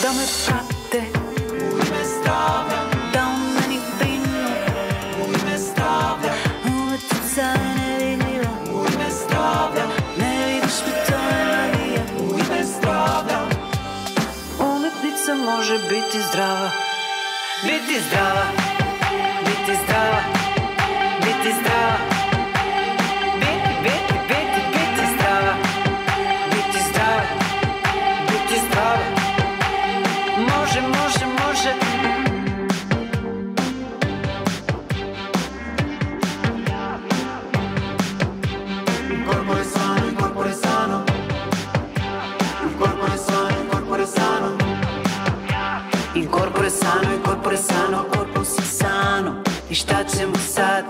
da me prate u ime zdravlja, da o meni brinu u ime zdravlja. Uletica je nevidljiva u ime zdravlja, ne vidiš mi to je navija u ime zdravlja. Umetnica može biti zdrava, biti zdrava, biti zdrava, biti zdrava. Sano, corpus sano. E šta ćemo sad?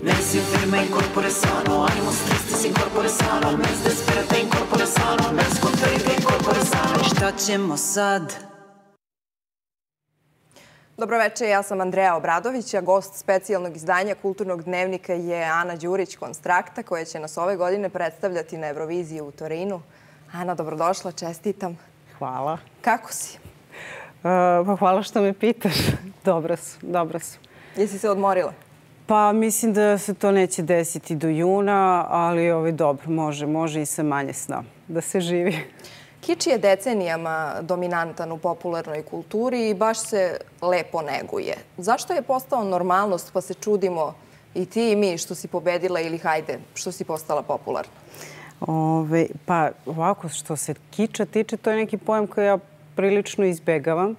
Nesi firma in corpore sano, animus tristis in corpore sano, mens desperata in corpore sano, mens contrarita in corpore sano. I šta ćemo sad? Dobro večer, ja sam Andreja Obradović, a gost specijalnog izdanja Kulturnog dnevnika je Ana Đurić Konstrakta, koja će nas ove godine predstavljati na Euroviziji u Torinu. Ana, dobrodošla, čestitam. Hvala. Kako si? Pa hvala što me pitaš. Dobro su. Jesi se odmorila? Pa mislim da se to neće desiti do juna, ali dobro, može i sa manje sna da se živi. Kič je decenijama dominantan u popularnoj kulturi i baš se lepo neguje. Zašto je postao normalnost pa se čudimo i ti i mi što si pobedila ili hajde što si postala popularna? Pa ovako, što se kiča tiče, to je neki pojam koji ja prilično izbegavam.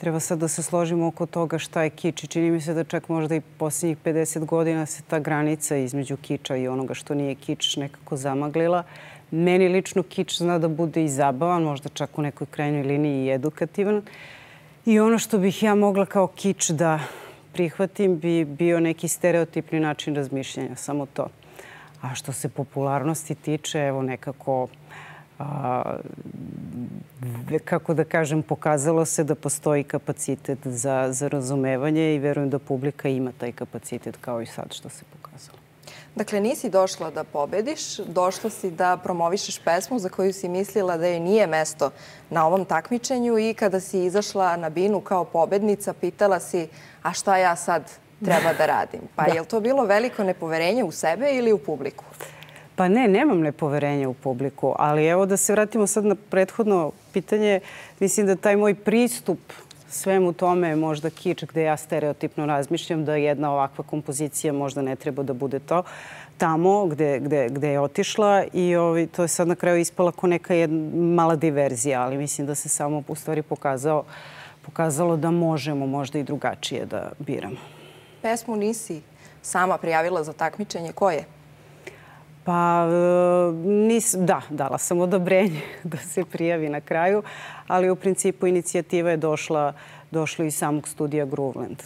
Treba sad da se složimo oko toga šta je kič. I čini mi se da čak možda i posljednjih 50 godina se ta granica između kiča i onoga što nije kič nekako zamaglila. Meni lično kič zna da bude i zabavan, možda čak u nekoj krajnjoj liniji i edukativan. I ono što bih ja mogla kao kič da prihvatim bi bio neki stereotipni način razmišljanja, samo to. A što se popularnosti tiče, evo nekako, kako da kažem, pokazalo se da postoji kapacitet za razumevanje i verujem da publika ima taj kapacitet kao i sad što se pokazalo. Dakle, nisi došla da pobediš, došla si da promovišeš pesmu za koju si mislila da joj nije mesto na ovom takmičenju i kada si izašla na binu kao pobednica, pitala si a šta ja sad treba da radim? Pa je li to bilo veliko nepoverenje u sebe ili u publiku? Pa ne, nemam nepoverenja u publiku, ali evo da se vratimo sad na prethodno pitanje. Mislim da taj moj pristup svemu tome je možda kič gde ja stereotipno razmišljam da jedna ovakva kompozicija možda ne treba da bude to tamo gde je otišla i to je sad na kraju ispala kao neka mala diverzija, ali mislim da se samo u stvari pokazalo da možemo možda i drugačije da biramo. Pesmu nisi sama prijavila za takmičenje. Ko je? Pa, da, dala sam odobrenje da se prijavi na kraju, ali u principu inicijativa je došla iz samog studija Grooveland.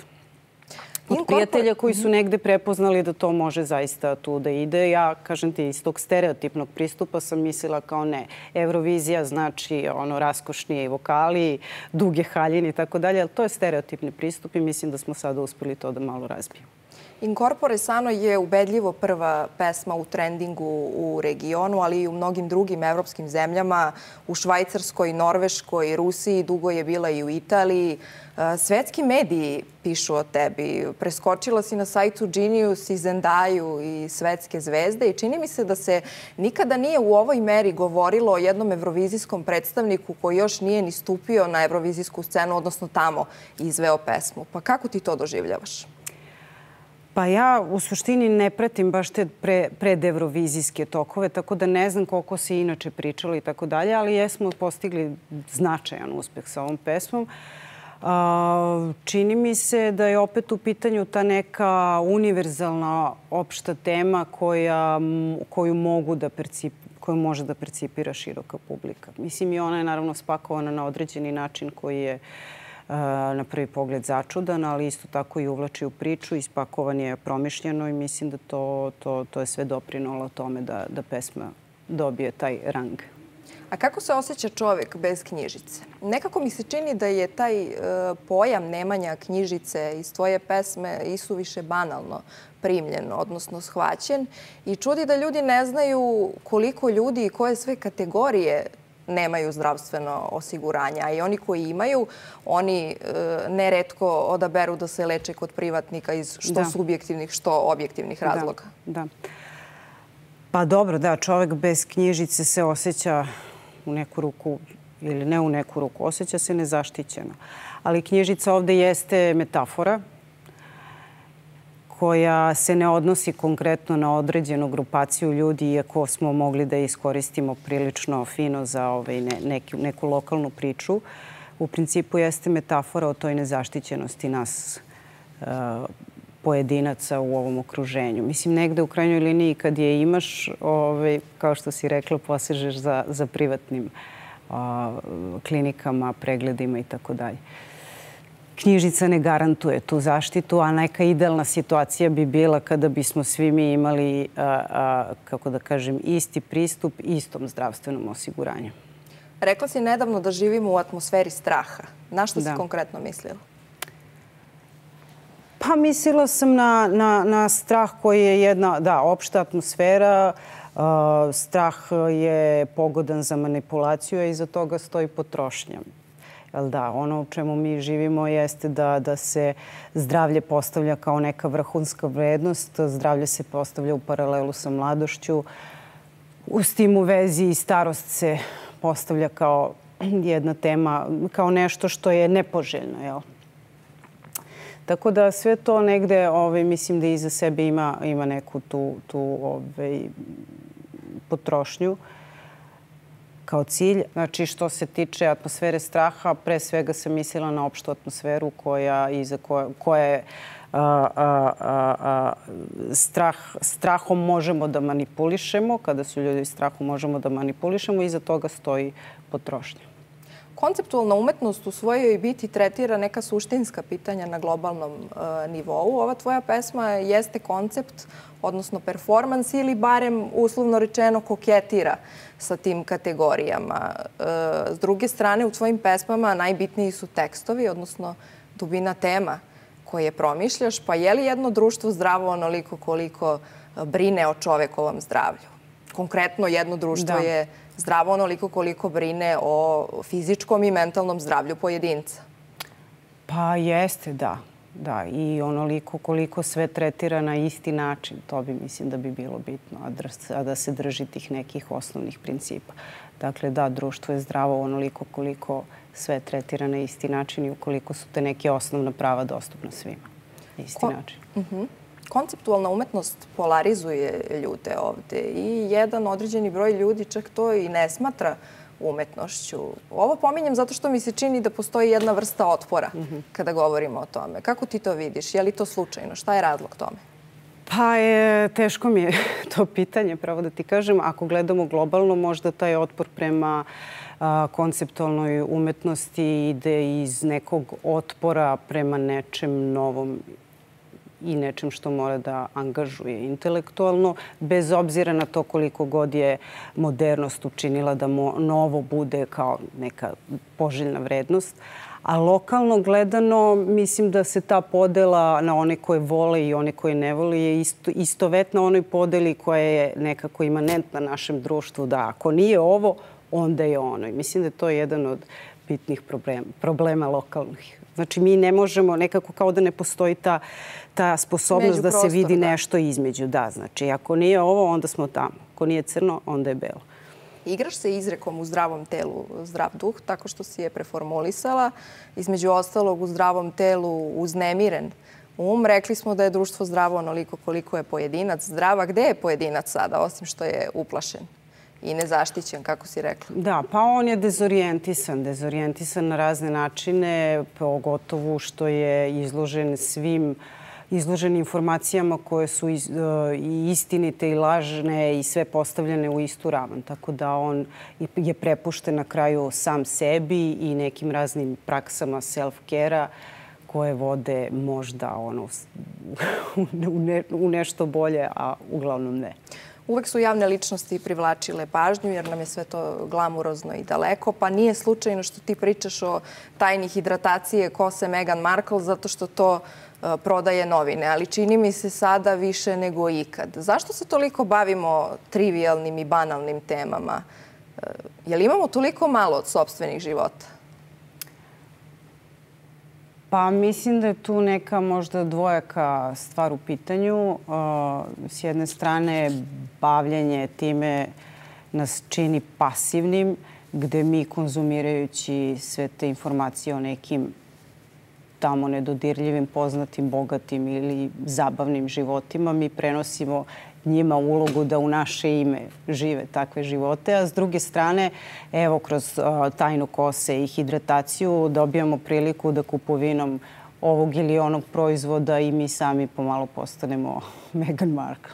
Od prijatelja koji su negde prepoznali da to može zaista tu da ide. Ja, kažem ti, iz tog stereotipnog pristupa sam mislila kao ne. Eurovizija znači raskošnije vokali, duge haljine i tako dalje, ali to je stereotipni pristup i mislim da smo sada uspeli to da malo razbijemo. In corpore sano je ubedljivo prva pesma u trendingu u regionu, ali i u mnogim drugim evropskim zemljama. U Švajcarskoj, Norveškoj, Rusiji, dugo je bila i u Italiji. Svetski mediji pišu o tebi. Preskočila si na sajtu Genius i Zendaju i svetske zvezde i čini mi se da se nikada nije u ovoj meri govorilo o jednom evrovizijskom predstavniku koji još nije ni stupio na evrovizijsku scenu, odnosno tamo izveo pesmu. Pa kako ti to doživljavaš? Pa ja u suštini ne pratim baš te predevrovizijske tokove, tako da ne znam koliko se inače pričalo i tako dalje, ali jesmo postigli značajan uspeh sa ovom pesmom. Čini mi se da je opet u pitanju ta neka univerzalna opšta tema koju može da percipira široka publika. Mislim, i ona je naravno spakovana na određeni način koji je na prvi pogled začudan, ali isto tako i uvlači u priču, ispakovan je promišljeno i mislim da to je sve doprinalo tome da pesma dobije taj rang. A kako se osjeća čovjek bez knjižice? Nekako mi se čini da je taj pojam nemanja knjižice iz tvoje pesme isuviše banalno primljen, odnosno shvaćen. I čudi da ljudi ne znaju koliko ljudi i koje sve kategorije nemaju zdravstveno osiguranje. A i oni koji imaju, oni neretko odaberu da se leče kod privatnika iz što subjektivnih, što objektivnih razloga. Da. Pa dobro, da, čovjek bez knjižice se osjeća u neku ruku, ili ne u neku ruku, osjeća se nezaštićeno. Ali knjižica ovdje jeste metafora koja se ne odnosi konkretno na određenu grupaciju ljudi, iako smo mogli da iskoristimo prilično fino za neku lokalnu priču. U principu jeste metafora o toj nezaštićenosti nas pojedinaca u ovom okruženju. Mislim, negde u krajnjoj liniji kad je imaš, kao što si rekla, posežeš za privatnim klinikama, pregledima i tako dalje. Knjižica ne garantuje tu zaštitu, a neka idealna situacija bi bila kada bismo svi mi imali, kako da kažem, isti pristup istom zdravstvenom osiguranju. Rekla si nedavno da živimo u atmosferi straha. Na što si konkretno mislila? Pa mislila sam na strah koji je jedna, opšta atmosfera. Strah je pogodan za manipulaciju, a iza toga stoji potrošnja. Ono u čemu mi živimo jeste da se zdravlje postavlja kao neka vrhunska vrednost. Zdravlje se postavlja u paralelu sa mladošću. S tim u vezi i starost se postavlja kao jedna tema, kao nešto što je nepoželjno. Tako da sve to negde, mislim da iza sebe ima neku tu potrošnju kao cilj. Znači, što se tiče atmosfere straha, pre svega sam mislila na opštu atmosferu koja je strahom možemo da manipulišemo. Kada su ljudi strahu možemo da manipulišemo, iza toga stoji potrošnja. Konceptualna umetnost u svojoj biti tretira neka suštinska pitanja na globalnom nivou. Ova tvoja pesma jeste koncept, odnosno performans, ili barem uslovno rečeno koketira sa tim kategorijama. S druge strane, u tvojim pesmama najbitniji su tekstovi, odnosno dubina tema koje promišljaš. Pa je li jedno društvo zdravo onoliko koliko brine o čovekovom zdravlju? Konkretno, jedno društvo je zdravo onoliko koliko brine o fizičkom i mentalnom zdravlju pojedinca. Pa jeste, da. I onoliko koliko sve tretira na isti način. To bi, mislim, da bi bilo bitno, a da se drži tih nekih osnovnih principa. Dakle, da, društvo je zdravo onoliko koliko sve tretira na isti način i ukoliko su te neke osnovna prava dostupna svima na isti način. Konceptualna umetnost polarizuje ljude ovde i jedan određeni broj ljudi čak to i ne smatra umetnošću. Ovo pominjem zato što mi se čini da postoji jedna vrsta otpora kada govorimo o tome. Kako ti to vidiš? Je li to slučajno? Šta je razlog tome? Pa teško mi je to pitanje, pravo da ti kažem. Ako gledamo globalno, možda taj otpor prema konceptualnoj umetnosti ide iz nekog otpora prema nečem novom i nečem što mora da angažuje intelektualno, bez obzira na to koliko god je modernost učinila da novo bude kao neka poželjna vrednost. A lokalno gledano, mislim da se ta podela na one koje vole i one koje ne vole je istovetna onoj podeli koja je nekako imanentna našem društvu, da ako nije ovo, onda je ono. I mislim da je to jedan od bitnih problema lokalnih. Znači, mi ne možemo, nekako kao da ne postoji ta sposobnost da se vidi nešto između. Da, znači, ako nije ovo, onda smo tamo. Ako nije crno, onda je belo. Igraš se izrekom u zdravom telu, zdrav duh, tako što si je preformulisala. Između ostalog, u zdravom telu uznemiren rekli smo da je društvo zdravo onoliko koliko je pojedinac zdrav. A gde je pojedinac sada, osim što je uplašen i nezaštićen, kako si rekla? Da, pa on je dezorijentisan. Dezorijentisan na razne načine, pogotovo što je izložen informacijama koje su i istinite i lažne i sve postavljene u istu ravan. Tako da on je prepušten na kraju sam sebi i nekim raznim praksama self-care-a koje vode možda u nešto bolje, a uglavnom ne. Uvek su javne ličnosti privlačile pažnju jer nam je sve to glamurozno i daleko, pa nije slučajno što ti pričaš o tajni hidratacije kose Meghan Markle zato što to prodaje novine, ali čini mi se sada više nego ikad. Zašto se toliko bavimo trivijalnim i banalnim temama? Je li imamo toliko malo od sopstvenih života? Pa mislim da je tu neka možda dvojaka stvar u pitanju. S jedne strane, bavljenje time nas čini pasivnim, gde mi konzumirajući sve te informacije o nekim tamo nedodirljivim, poznatim, bogatim ili zabavnim životima, mi prenosimo njima ulogu da u naše ime žive takve živote. A s druge strane, evo, kroz tajnu kose i hidrataciju dobijamo priliku da kupovinom ovog ili onog proizvoda i mi sami pomalo postanemo Meghan Markle.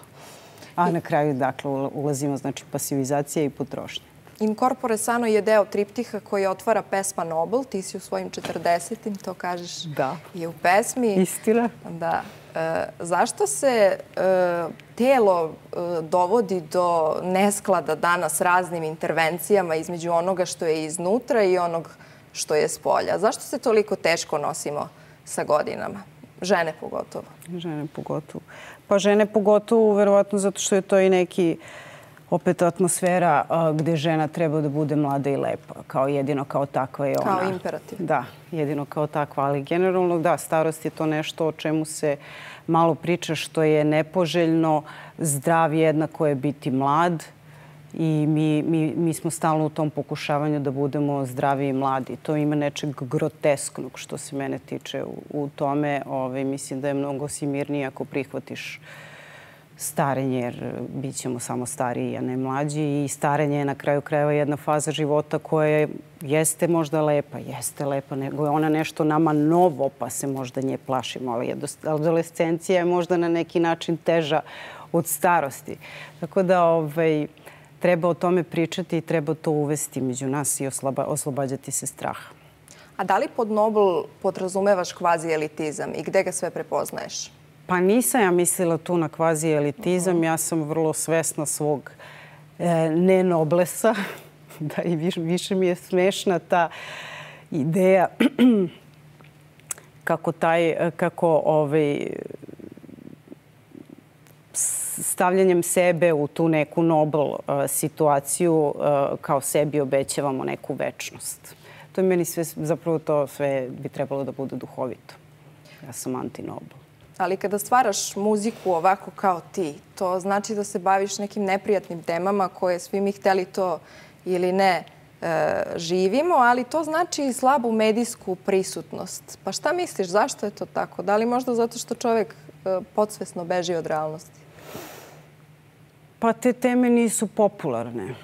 A na kraju, dakle, ulazimo, znači, pasivizacija i potrošnja. In corpore sano je deo triptiha koji otvara pesma Nobel. Ti si u svojim 40-im, to kažeš i u pesmi. Istina. Da. Zašto se telo dovodi do nesklada danas raznim intervencijama između onoga što je iznutra i onog što je spolja? Zašto se toliko teško nosimo sa godinama? Žene pogotovo. Žene pogotovo. Pa žene pogotovo, verovatno zato što je to i neki opet atmosfera gde žena treba da bude mlada i lepa. Jedino kao takva je ona. Kao imperativ. Da, jedino kao takva. Ali generalno, da, starost je to nešto o čemu se malo priča, što je nepoželjno. Zdrav jednako je biti mlad. I mi smo stalno u tom pokušavanju da budemo zdravi i mladi. To ima nečeg grotesknog što se mene tiče u tome. Mislim da je mnogo si mirnije ako prihvatiš starenje, jer bit ćemo samo stariji, a ne mlađi. I starenje je na kraju krajeva jedna faza života koja jeste možda lepa. Jeste lepa, nego je ona nešto nama novo, pa se možda nje plašimo. Ali adolescencija je možda na neki način teža od starosti. Tako da treba o tome pričati i treba to uvesti među nas i oslobađati se straha. A da li pod Nobel podrazumevaš kvazi elitizam i gde ga sve prepoznaješ? Pa nisam ja mislila tu na kvazi elitizam. Ja sam vrlo svesna svog nenoblesa. Da, i više mi je smešna ta ideja kako stavljanjem sebe u tu neku Nobel situaciju kao sebi obećavamo neku večnost. To je meni sve, zapravo to sve bi trebalo da bude duhovito. Ja sam anti-Nobel. Ali kada stvaraš muziku ovako kao ti, to znači da se baviš nekim neprijatnim temama koje svi mi hteli to ili ne živimo, ali to znači i slabu medijsku prisutnost. Pa šta misliš, zašto je to tako? Da li možda zato što čovjek podsvesno beži od realnosti? Pa te teme nisu popularne.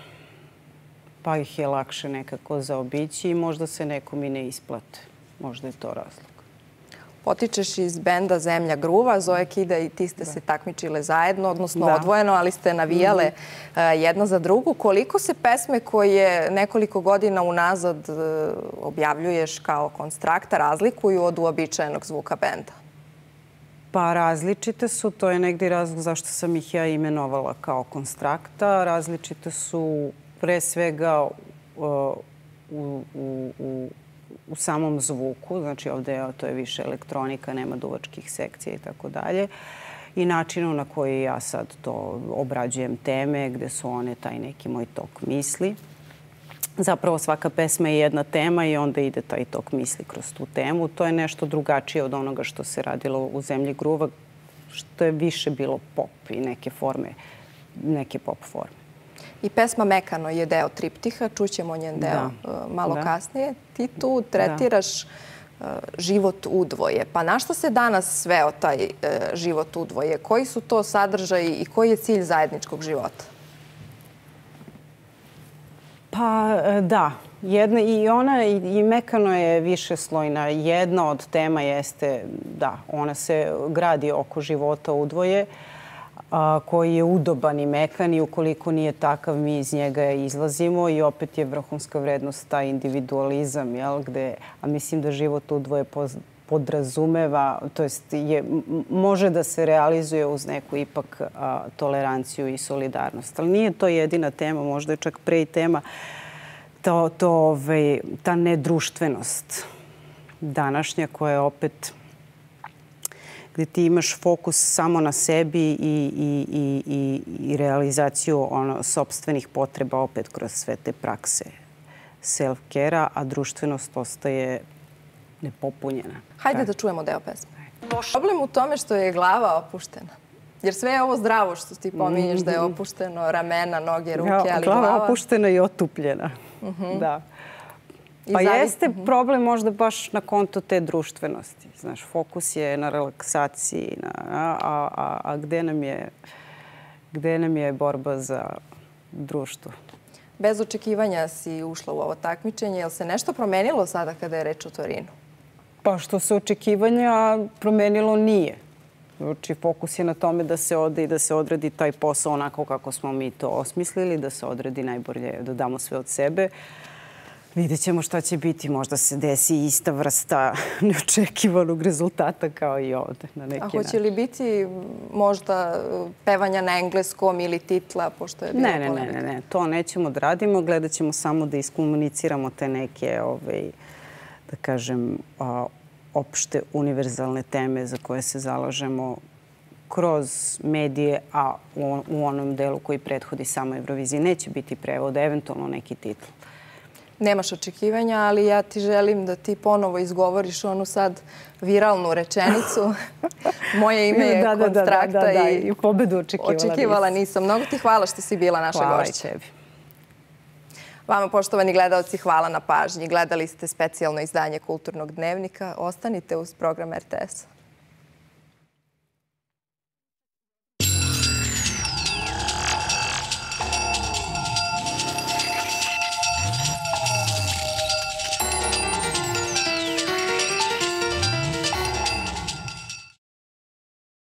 Pa ih je lakše nekako zaobići i možda se nekom i ne isplate. Možda je to razlog. Potičeš iz benda Zemlja gruva. Zoe Kida i ti ste se takmičile zajedno, odnosno odvojeno, ali ste navijale jedna za drugu. Koliko se pesme koje nekoliko godina unazad objavljuješ kao Konstrakta razlikuju od uobičajenog zvuka benda? Pa različite su. To je negdje razlog zašto sam ih ja imenovala kao Konstrakta. Različite su pre svega u samom zvuku. Znači ovdje to je više elektronika, nema duvačkih sekcija i tako dalje. I načinu na koji ja sad to obrađujem teme, gde su one taj neki moj tok misli. Zapravo svaka pesma je jedna tema i onda ide taj tok misli kroz tu temu. To je nešto drugačije od onoga što se radilo u Zemlji gruva, što je više bilo pop i neke pop forme. I pesma Mekano je deo triptiha, čućemo njen deo malo kasnije. Ti tu tretiraš život udvoje. Pa na što se danas sveo taj život udvoje? Koji su to sadržaji i koji je cilj zajedničkog života? Pa da, i Mekano je višeslojna. Jedna od tema jeste, da, ona se gradi oko života udvoje, koji je udoban i mekan i ukoliko nije takav, mi iz njega izlazimo i opet je vrhunska vrednost taj individualizam, a mislim da život udvoje podrazumeva, to jest može da se realizuje uz neku ipak toleranciju i solidarnost. Ali nije to jedina tema, možda je čak pre i tema ta nedruštvenost današnja koja opet gde ti imaš fokus samo na sebi i realizaciju sopstvenih potreba opet kroz sve te prakse self-care-a, a društvenost ostaje nepopunjena. Hajde da čujemo deo pesme. Problem u tome što je glava opuštena. Jer sve je ovo zdravo što ti pominješ da je opušteno, ramena, noge, ruke, ali glava... Glava opuštena i otupljena. Da. Pa jeste problem možda baš na konto te društvenosti. Znaš, fokus je na relaksaciji, a gde nam je borba za društvo? Bez očekivanja si ušla u ovo takmičenje. Je li se nešto promenilo sada kada je reč o Torinu? Pa što se očekivanja promenilo nije. Znači, fokus je na tome da se ode i da se odradi taj posao onako kako smo mi to osmislili, da se odradi najbolje, da damo sve od sebe. Vidjet ćemo šta će biti. Možda se desi ista vrsta neočekivanog rezultata kao i ovde na neki način. A hoće li biti možda pevanja na engleskom ili titla, pošto je bilo polemika? Ne. To nećemo da radimo. Gledat ćemo samo da iskomuniciramo te neke, da kažem, opšte univerzalne teme za koje se zalažemo kroz medije, a u onom delu koji prethodi samo Euroviziji neće biti prevod, eventualno neki titl. Nemaš očekivanja, ali ja ti želim da ti ponovo izgovoriš onu sad viralnu rečenicu. Moje ime je Konstrakta i pobedu očekivala nisam. Mnogo ti hvala što si bila naša gošća. Hvala tebi. Vama, poštovani gledalci, hvala na pažnji. Gledali ste specijalno izdanje Kulturnog dnevnika. Ostanite uz program RTS.